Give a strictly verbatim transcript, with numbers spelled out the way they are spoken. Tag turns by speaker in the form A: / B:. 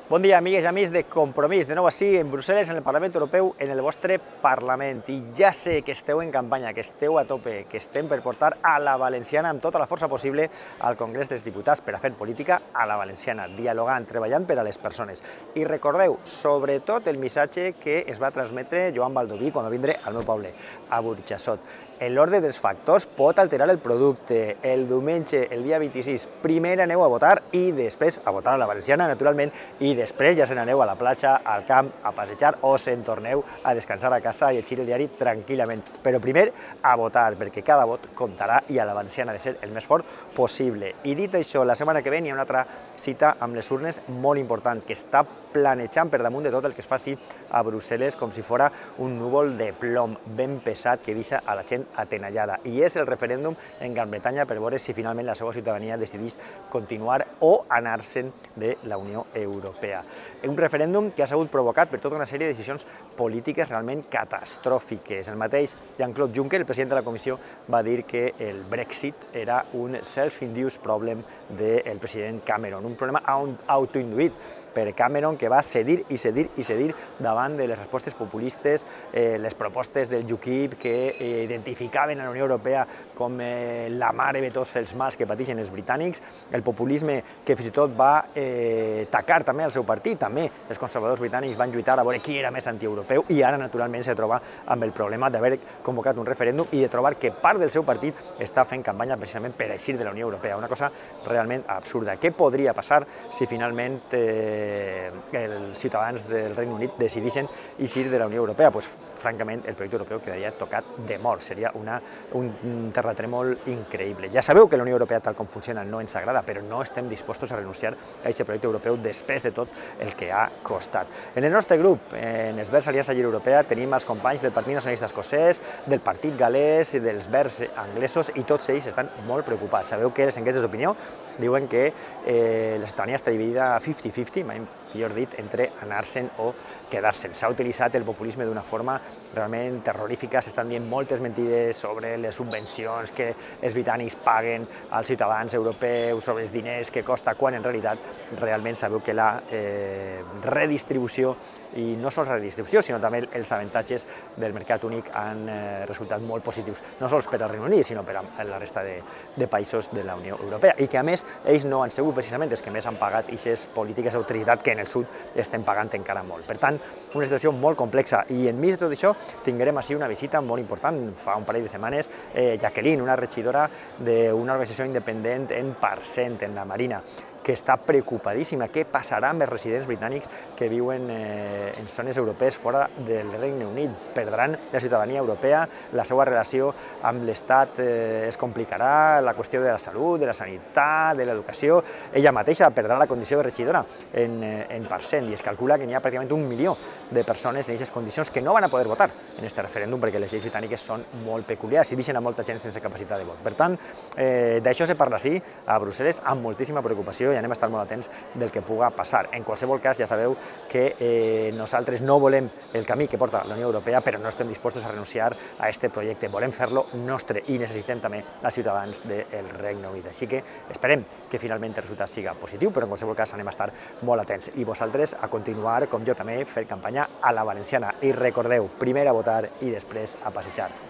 A: Bon dia, amigues i amics de Compromís. De nou així, en Brussel·les, en el Parlament Europeu, en el vostre Parlament. I ja sé que esteu en campanya, que esteu a tope, que estem per portar a la valenciana amb tota la força possible al Congrés dels Diputats per a fer política a la valenciana, dialogant, treballant per a les persones. I recordeu, sobretot, el missatge que es va transmetre Joan Baldoví quan va vindre al meu poble, a Burjassot. L'ordre dels factors pot alterar el producte. El diumenge, el dia vint-i-sis, primer aneu a votar i després a votar a la valenciana, naturalment, i després ja se n'aneu a la platja, al camp, a passejar o se'n torneu a descansar a casa i llegir el diari tranquil·lament. Però primer a votar, perquè cada vot comptarà i a la valenciana ha de ser el més fort possible. I dit això, la setmana que ve hi ha una altra cita amb les urnes molt important, que està planejant per damunt de tot el que es faci a Brussel·les com si fora un núvol de plom ben pesat que deixa a la gent atenallada. I és el referèndum en Gran Bretanya per veure si finalment la seva ciutadania decideix continuar o anar-se'n de la Unió Europea. Un referèndum que ha sigut provocat per tota una sèrie de decisions polítiques realment catastròfiques. El mateix Jean-Claude Juncker, el president de la Comissió, va dir que el Brexit era un self-induced problem del president Cameron, un problema autoinduït per Cameron, que va cedir i cedir i cedir davant de les respostes populistes, eh, les propostes del U KIP que eh, identificaven a la Unió Europea com eh, la mare de tots els mals que pateixen els britànics, el populisme que fins i tot va eh, tacar també al seu partit, també els conservadors britànics van lluitar a veure qui era més antieuropeu i ara naturalment se troba amb el problema d'haver convocat un referèndum i de trobar que part del seu partit està fent campanya precisament per eixir de la Unió Europea, una cosa realment absurda. Què podria passar si finalment eh, els ciutadans del Regne Unit decidissin eixir de la Unió Europea? Pues, francament, el projecte europeu quedaria tocat de mort. Seria una, un terratrèmol increïble. Ja sabeu que la Unió Europea, tal com funciona, no ens agrada, però no estem dispostos a renunciar a aquest projecte europeu després de tot el que ha costat. En el nostre grup, en els Verds Aliança Lliure Europea, tenim els companys del Partit Nacionalista Escocès, del Partit Galès i dels Verds anglesos, i tots ells estan molt preocupats. Sabeu que les enquestes d'opinió diuen que eh, la ciutadania està dividida cinquanta cinquanta, mai millor dit, entre anar-se'n o quedar-se'n. S'ha utilitzat el populisme d'una forma realment terrorífica, s'estan dient moltes mentides sobre les subvencions que els britànics paguen als ciutadans europeus, sobre els diners que costa, quan en realitat realment sabeu que la eh, redistribució, i no sols la redistribució, sinó també els avantatges del mercat únic han eh, resultat molt positius, no sols per al Regne Unit, sinó per a la resta de, de països de la Unió Europea, i que a més ells no han sigut precisament els que més han pagat aquestes polítiques d'autoritat que en el sud estem pagant encara molt. Per tant, una situació molt complexa, i enmig de tot això tindrem així una visita molt important. Fa un parell de setmanes, eh, Jacqueline, una regidora d'una organització independent en Parcent, en la Marina, que està preocupadíssima. Què passarà amb els residents britànics que viuen eh, en zones europees fora del Regne Unit? Perdran la ciutadania europea, la seva relació amb l'Estat eh, es complicarà, la qüestió de la salut, de la sanitat, de l'educació. Ella mateixa perdrà la condició de regidora en, eh, en Parcent, i es calcula que n'hi ha pràcticament un milió de persones en aquestes condicions que no van a poder votar en aquest referèndum perquè les lleis britàniques són molt peculiars i deixen a molta gent sense capacitat de vot. Per tant, eh, d'això se parla sí a Brussel·les amb moltíssima preocupació, i anem a estar molt atents del que puga passar. En qualsevol cas, ja sabeu que eh, nosaltres no volem el camí que porta la Unió Europea, però no estem dispostos a renunciar a aquest projecte. Volem fer-lo nostre i necessitem també els ciutadans del Regne Unit. Així que esperem que finalment el resultat siga positiu, però en qualsevol cas anem a estar molt atents. I vosaltres a continuar, com jo també, fer campanya a la valenciana. I recordeu, primer a votar i després a passejar.